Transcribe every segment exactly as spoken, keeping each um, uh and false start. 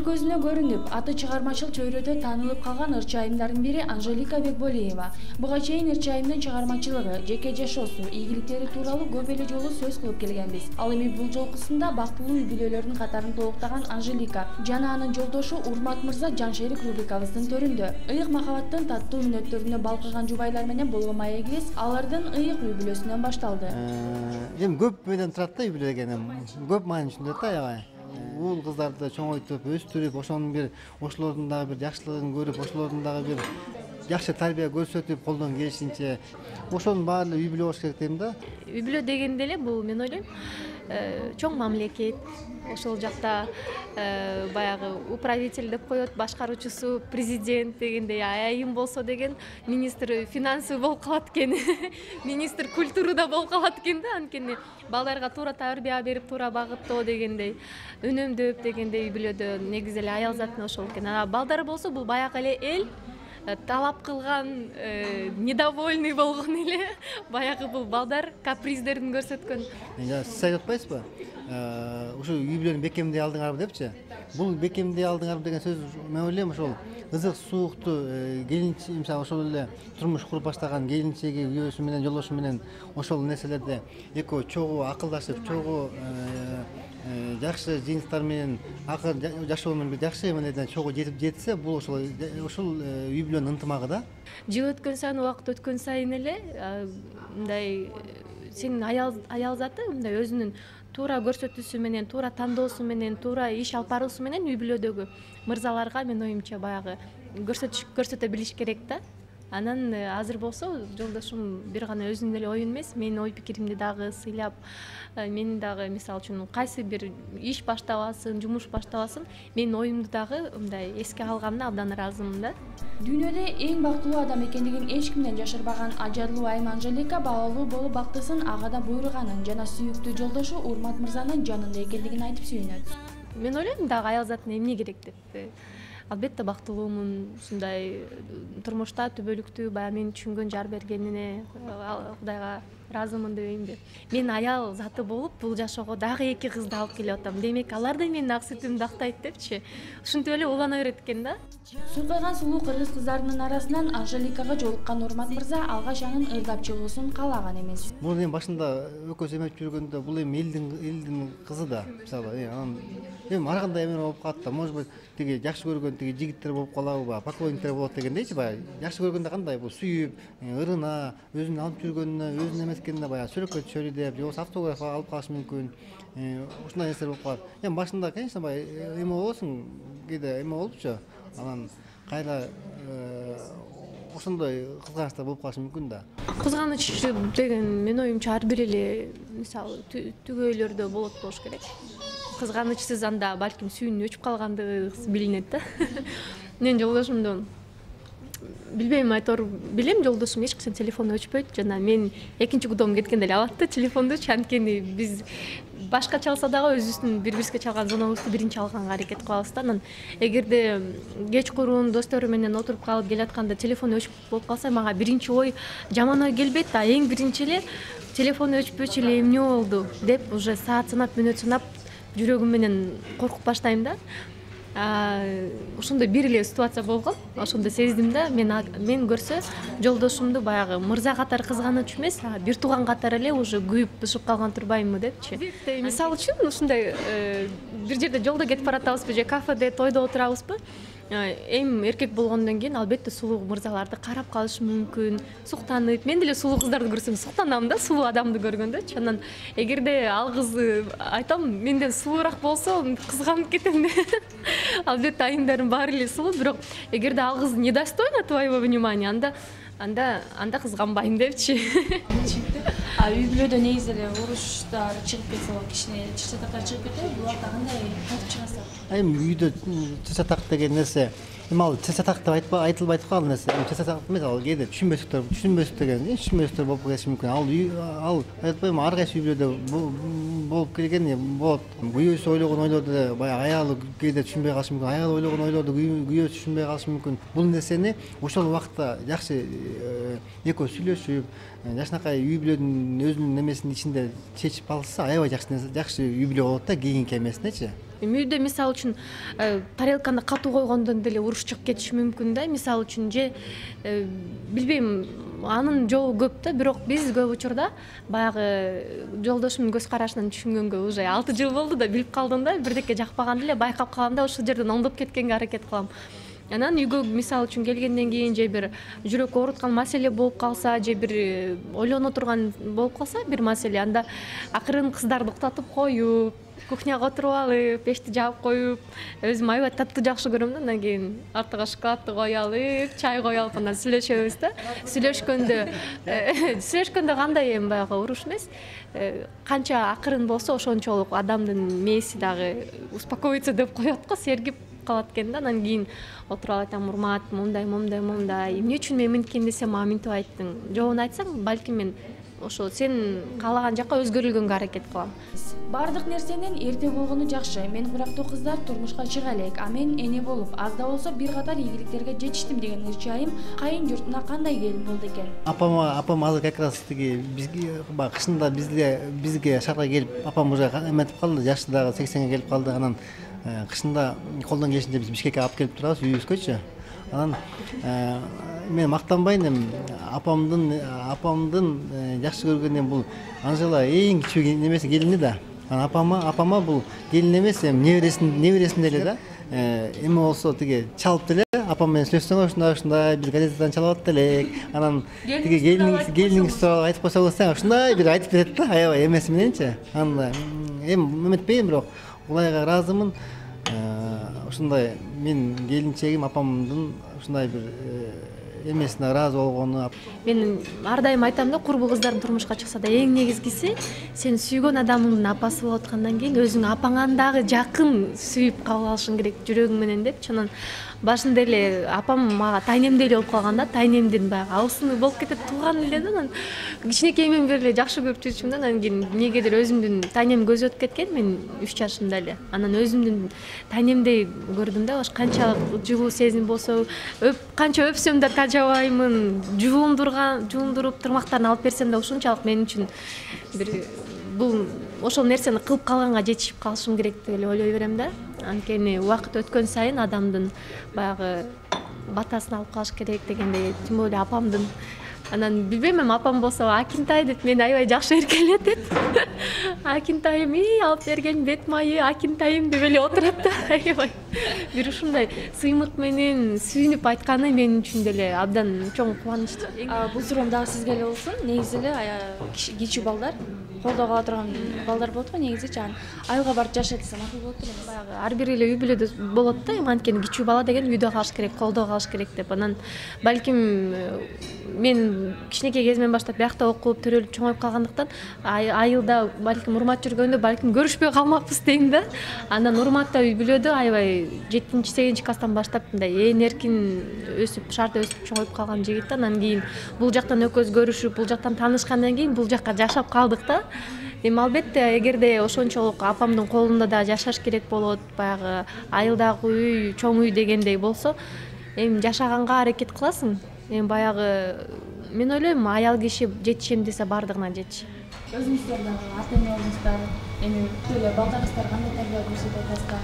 көзүнө көрүнүп, аты чыгармачыл чөйрөдө таанылып калган ырчы айымдардын бири Анжелика Бекболиева. Буга чейин ырчы айымдын чыгармачылыгы, жеке жашоосу, ийгиликтери тууралуу көп эле жолу сөз кылып келгенбиз. Ал эми бул жолкусунда бактылуу үй бүлөлөрдүн катарын толуктаган Анжелика жана анын жолдошу Урмат мырза Жаншерик рубрикабыздын төрүндө. Ыйык махабаттын таттуу мүнөттөрүнө балкыган жубайлар менен болгон маегибиз алардын ыйык үй бүлөсүнөн башталды. Эми көп менен турат да үй бүлө деген. Көп маани түшүнөт да аябай. Уул кыздарды чоңойтуп, өстүрүп, ошонун бир ошолордун дагы бир жакшылыгын көрүп, ошолордун дагы бир жакшы тарбия көрсөтүп, колдон келишинче ошонун баары үй бүлө болуш керек дейм да. Үй бүлө дегенде эле бул мен ойлойм чоң мамлекет, ошол жакта баягы управитель деп коет, башкаруучусу, президент дегендей, айым болсо деген министр финансы болуп калат экен, министр культурада болуп калат экен да, анткени балдарга туура тарбия берип, туура багыттоо дегендей, үнөмдөп дегендей үй бүлөдө негизи эле аял затын ошол экен. А балдар болсо бул баягы эле эл талап кылган, недовольный болгон эле баягы бул балдар каприздерин көрсөткөн. Сиз айтып атпайсызбы? Ушул үй бүлөнү бекемдей алдыңарбы депчи? Бул бекемдей алдыңарбы деген сөз мен ойлойм ошол ызык суукту келинчи, мисалы ошол эле турмуш куруп баштаган келинчеги, күйөөсү менен, жолдошу менен ошол нерселерде экөө чогуу акылдашып, чогуу жакшы жыйынтыктар менен акыр жашоонун бир жакшы эмелерине чогуу жетип жетсе, бул ошол ошол үй бүлөнүн ынтымагы да. Жыл өткөн сайын, убакыт өткөн сайын эле мындай сенин аял аял заты мындай өзүнүн туура көрсөтүүсү менен, туура тандоосу менен, туура иш алып баруусу менен үй бүлөдөгү мырзаларга мен оюмча баягы көрсөтүш көрсөтө билиш керек да. Анан азыр болсо жолдошум бир гана өзүнүн эле оюн эмес, менин ой пикиримди дагы сыйлап, мен дагы мисалы үчүн кайсы бир иш баштабасын, жумуш баштабасын, менин оюмду дагы мындай эске алганына абдан ыраазымын да. Дүйнөдө эң бактылуу адам экендигин эч кимден жашырбаган ажарлуу айым Анжелика баалуу болуп бактысын агадан буйруганын жана сүйүктүү жолдошу Урмат мырзанын жанында экендигин айтып сүйүнөт. Мен ойлойм дагы аял затына эмне керек деп. Албетте бактылуумун, ушундай турмушта түбөлүктүү баягы мени түшүнгөн жар бергенине Кудайга ыраазымын дебеймби. Мен аял заты болуп бул жашоого дагы эки кызды алып келип атам. Демек алар да менин ак сүтүмдү актайт депчи. Ушинтип эле улана берет экен да. Сулкайган сулуу кыргыз кыздарынын арасынан Анжеликага жолуккан Урмат мырза алгач анын ырдап чыгуусун каалаган эмес. Бул эми башында экөөсү эмеп жүргөндө бул эми элдин элдин кызы да, мисалы, анан эми ар кандай эме болуп калат да, может быть, тиги жакшы көргөн тиги жигиттер болуп калабы, поклонниктер болот дегендейчи, баягы жакшы көргөндө кандай бул сүйүп, ырына, өзүнүн алып жүргөнүнө, өзүнүн эмескенине баягы сүрөккө түшөлү деп, же болбосо автограф алып калышы мүмкүн. Ушундай нерселер болуп калат. Эми башында, конечно, баягы эме болосуң, кээде эме болупчу. Анан кайра ошондой кызганычтар болуп калышы мүмкүн да. Кызганыч деген мен оюмча ар бир эле мисалы түгөйлөрдө болот болуш керек. Кызганычсыз анда балким сүйүүнүн өчүп калгандыгы билинет да. Мен жолдошумду билбейм, айтор билем, жолдошум эч качан телефону өчпөйт жана мен экинчи кудоом кеткенде эле алат да телефондучу, анткени биз башка чалса дагы өзүбүздүн бири-бирибизге чалган зонобузду биринчи алганга аракет кылабыз да. Анан эгерде кечкурун достору менен отуруп калып келатканда телефону өчүп болуп калса, мага биринчи ой жаман ой келбейт да, эң биринчи эле телефону өчпөчү эле эмне болду деп уже саат санап, мүнөт санап жүрөгүм менен коркуп баштайм да. Ошондой бир эле ситуация болгон. Ошондо сездим да, мен мен көрсө жолдошумду баягы мырза катары кызганыч эмес, бир тууган катары эле уже күйүп бышып калган турбаймынбы депчи. Мисалы үчүн ушундай бир жерде жолдо кетип баратабызбы же кафеде, тойдо отурабызбы, эм эркек болгондон кийин албетте сулуу мырзаларды карап калышы мүмкүн, суктанып. Мен деле сулуу кыздарды көрсөм суктанам да, сулуу адамды көргөндө. Анан эгерде ал кыз айтам менден сулуураак болсо кызганып кетем да. Албетте айымдардын баары эле сулуу, бирок эгерде ал кыз недостойна твоего внимания, анда анда анда кызганбайм депчи. А үй бүлөдө негизи эле уруштар чыгып кетсе, кичине чыр-чатактар чыгып кетеби, буларда кандай кантип чыгасыздар? Эми үйдө чыр-чатак деген нерсе, эми ал чыр-чатак деп айтылбайт го ал нерсе. Чыр-чатак эмес, ал кээде түшүнбөстүктөр, түшүнбөстүк деген, түшүнбөстүктөр болуп келиши мүмкүн. Ал ал айтпайм, ар кайсы үй бүлөдө болуп келген болот. Күйөөсү ойлогон ойлорду баягы аялы кээде түшүнбөй калышы мүмкүн, аялы ойлогон ойлорду күйөөсү түшүнбөй калышы мүмкүн. Бул нерсени ошол убакытта жакшы экөө сүйлөшүп, жакшынакай үй бүлөнүн өзүнүн немесинин ичинде чечип алса, аябай жакшы жакшы үй бүлө болот да, кийинки эмесинечи. үйдө мисалы үчүн тарелканы катуу койгондон деле уруш чыгып кетиши мүмкүн да. Мисалы үчүн же билбейм, анын жолу көп да, бирок биз көп учурда баягы жолдошумдун көз карашынан түшүнгөнгө уже алты жыл болду да, билип калдым да, бирдеке жакпаган эле байкап калам да, ошол жерден оңдоп кеткенге аракет кылам. Анан үйгө мисалы үчүн келгенден кийин же бир жүрөк ооруткан маселе болуп калса, же бир ойлоно турган болуп калса бир маселе, анда акырын кыздарды уктатып коюп, кухняга отуруп алып, печти жаап коюп, өзүм аябай таттуу жакшы көрөм да. Андан кийин артыга шоколадты кое алып, чай кое алып, анан сүйлөшөбүз да. Сүйлөшкөндө сүйлөшкөндө кандай эми баягы уруш эмес, канча акырын болсо ошончолук адамдын мээси дагы успокоиться деп коет го, сергип калат экен да. Анан кийин отуруп алып айтам, урмат, момундай момундай момундай, эмне үчүн мен минткени десем мага минтип айттың, жообун айтсаң балким мен ошо сен каалаган жакка өзгөрүлгөнгө аракет кылам. Бардык нерсенин эрте болгону жакшы. Мен курактуу кыздар турмушка чыга элек, а мен эне болуп аз да болсо бир катар ийгиликтерге жетиштим деген ырчайым кайын журтуна кандай келин болду экен? Апама апам азыр как раз тиги бизге баягы кышында бизге бизге шаарга келип, апам уже эметип калды, жашы дагы сексенге келип калды. Анан кышында колдон келишинче биз Бишкекке алып келип турабыз үйүбүзгөчү. Анан мен мактанбайм эми, апамдын апамдын жакшы көргөнүм бул Анжела эң кичүү немеси келини да. Анан апама апама бул келин эмес, эми небересин небересин деле да. Эми болсо тиги чалып деле апам менен сүйлөшсөң ушундай ушундай биз газетадан чалып аттык элек. Анан тиги келин келиниңиз тууралуу айтып койсоңуз ушундай бир айтып берет да, аябай эмеси мененчи. Анан эми эметпейм, бирок улайга ыраазымын. Ушундай мен келинчегим апамдын ушундай бир эмесине ыраазы болгону. Мен ар дайым айтам да, курбу кыздар турмушка чыкса да эң негизгиси сен сүйгөн адамыңдын апасы болуп аткандан кийин өзүң апаңан дагы жакын сүйүп кабыл алышың керек жүрөгүң менен депчи. Анан башында эле апам мага тайнемдей эле болуп калган да, тайнемдин баягы абысыны болуп кетет, тууган эле да. Анан кичинекейимден бери эле жакшы көрүп жүрчүмүн да. Анан кийин эмнегедир өзүмдүн тайнем көзү өтүп кеткен, мен үч жашымда эле. Анан өзүмдүн тайнемдей көрдүм да, канчалык жылуу сезим болсо, өп канча өпсөм да тажабаймын, жуундурган жуундуруп тырмактарын алып берсем да ушунчалык мен үчүн бир бул ошол нерсени кылып калганга жетишип калышым керек деп эле ойлой берем да. Анткени убакыт өткөн сайын адамдын баягы батасын алып калыш керек дегендей, тим более апамдын. Анан билбейм, эми апам болсо Акинтай деп мени аябай жакшы эркелетет. Акинтайым, ий алып берген бет майы Акинтайым деп эле отурат да. Аябай бир ушундай сыймык менен сүйүнүп айтканы мен үчүн деле абдан чоң кубаныч. Бул суроом дагы сизге эле болсун. Негизи эле кичүү балдар колдо кала турган балдар болот го, негизичи айылга барып жашайт десе макул болот эле. Баягы ар бир эле үй бүлөдө болот да, эми анткени кичүү бала деген үйдө калыш керек, колдо калыш керек деп. Анан балким мен кичинекей кезимден баштап биякта окуп, төрөлүп чоңоюп калгандыктан айылда балким урмат жүргөндө балким көрүшпөй калмакпыз дейм да. Андан урматта үй бүлөдө аябай жетинчи сегизинчи класстан баштап мындай ээн эркин өсүп, шаарда өсүп чоңоюп калган жигит да. Анан кийин бул жактан экөөбүз көрүшүп, бул жактан таанышкандан кийин бул жакка жашап калдык да. Эми албетте эгерде ошончолук апамдын колунда да жашаш керек болот, баягы айылдагы үй, чоң үй дегендей болсо, эми жашаганга аракет кыласың. Эми баягы мен ойлойм, аял киши жетишем десе бардыгына жетиш. Өзүңүздөр дагы ата энеңиздер, эми эле балдарыңыздар кандай тарбия көрсөтөт атасыздар?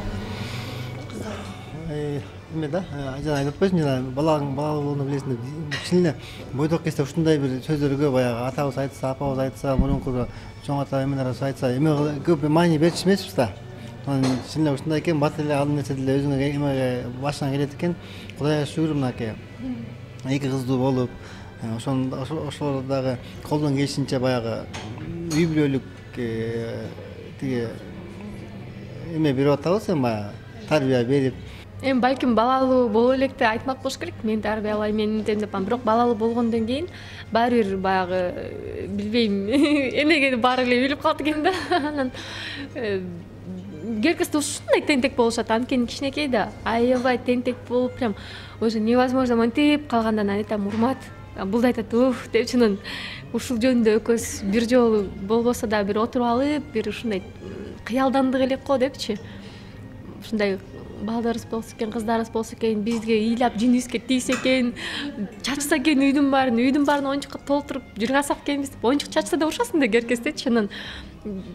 Эме да, жана айтып койсун, жана балаң балалуу болууну билесиң деп, кичине бойдок кезде ушундай бир сөздөргө баягы атабыз айтса, апабыз айтса, мурунку чоң ата эмелерибиз айтса, эме көп маани берчү эмеспиз да. Анан чын ушундай экен, бат эле ал нерсе деле өзүңө эмеге башыңа келет экен. Кудайга шүгүр, мынакей эки кыздуу болуп, ошон ошолор дагы колдон келишинче баягы үй бүлөлүк тиги эме берип атабыз, эми баягы тарбия берип. Эми балким балалуу боло электе айтмак болуш керек, мен тарбиялайм, мен мынтем деп, бирок балалуу болгондон кийин баары бир баягы билбейм, эмнеге баары эле билип калат экен да. Анан керкести ушундай тентек болушат, анткени кичинекей да аябай тентек болуп, прям уже невозможно мынтип калгандан айтам, урмат, бул да айтат, уф депчи. Анан ушул жөнүндө экөөбүз бир жолу болбосо да бир отуруп алып, бир ушундай кыялдандык элек го депчи. Ушундай балдарыбыз болсо экен, кыздарыбыз болсо экен, бизге ыйлап жинибизге тийсе экен, чачса экен үйдүн баарын, үйдүн баарын оюнчукка толтуруп жыргасак экенбиз деп, оюнчук чачса да урушасың да керкестечи. Анан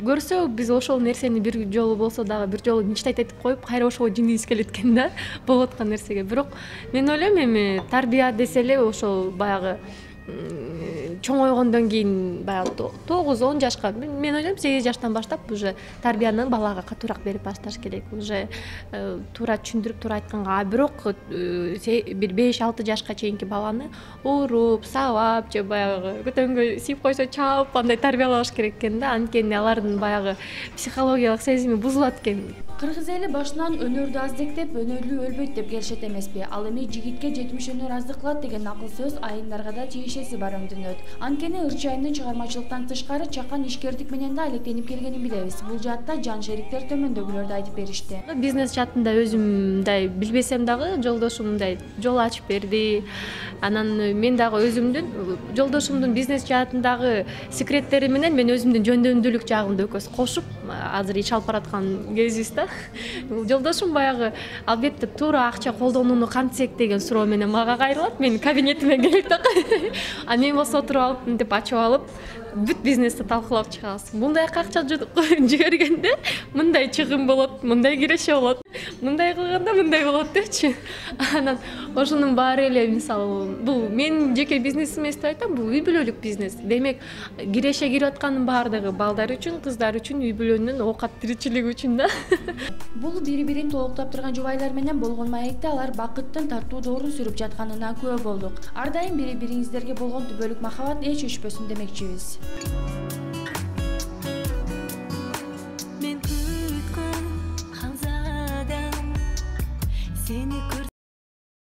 көрсө биз ошол нерсени бир жолу болсо дагы бир жолу мечтать этип коюп, кайра ошого жинибиз келет экен да, болуп аткан нерсеге. Бирок мен ойлойм эми тарбия десе эле ошол баягы чоңойгондон кийин баягы тогуз он жашка, мен ойлойм сегиз жаштан баштап уже тарбияны балага катуураак берип башташ керек. Уже туура түшүндүрүп, туура айтканга. А бирок бир беш алты жашка чейинки баланы уруп, сабап же баягы көтөнгө сийип койсо чаап андай тарбиялаш керек экен да. Анткени алардын баягы психологиялык сезими бузулат экен. Кыргыз эли башынан өнөрдү аздектеп, өнөрлүү өлбөйт деп келишет эмеспи? Ал эми жигитке жетимиш өнөр аздык кылат деген накыл сөз айымдарга да тиешеси бар өңдөнөт. Анткени Ырчайымдын чыгармачылыктан тышкары чакан ишкердик менен да алектенип келгенин билебиз. Бул жаатта жан шериктер төмөндөгүлөрдү айтып беришти. Бизнес жаатында өзүм мындай билбесем дагы жолдошум мындай жол ачып берди. Анан мен дагы өзүмдүн жолдошумдун бизнес жаатындагы секреттери менен мен өзүмдүн жөндөмдүүлүк жагымды экөөбүз кошуп азыр иш алып бараткан кезибиз да. Жолдошум баягы албетте туура акча колдонууну кантсек деген суроо менен мага кайрылат. Мен кабинетиме келет да. А мен болсо отуруп алып мынтип ачып алып бүт бизнести талкуулап чыгабыз. Мындайга акча жибергенде мындай чыгым болот, мындай киреше болот, мындай кылганда мындай болот депчи. Анан ошонун баары эле мисалы бул менин жеке бизнесим эмес деп айтам, бул үй бүлөлүк бизнес. Демек киреше кирип атканын баардыгы балдар үчүн, кыздар үчүн, үй бүлөнүн оокат тиричилиги үчүн да. Бул бири-бирин толуктап турган жубайлар менен болгон маекте алар бакыттын тартуу доорун сүрүп жатканына күбө болдук. Ар дайым бири-бириңиздерге болгон түбөлүк махабат эч өчпөсүн демекчибиз.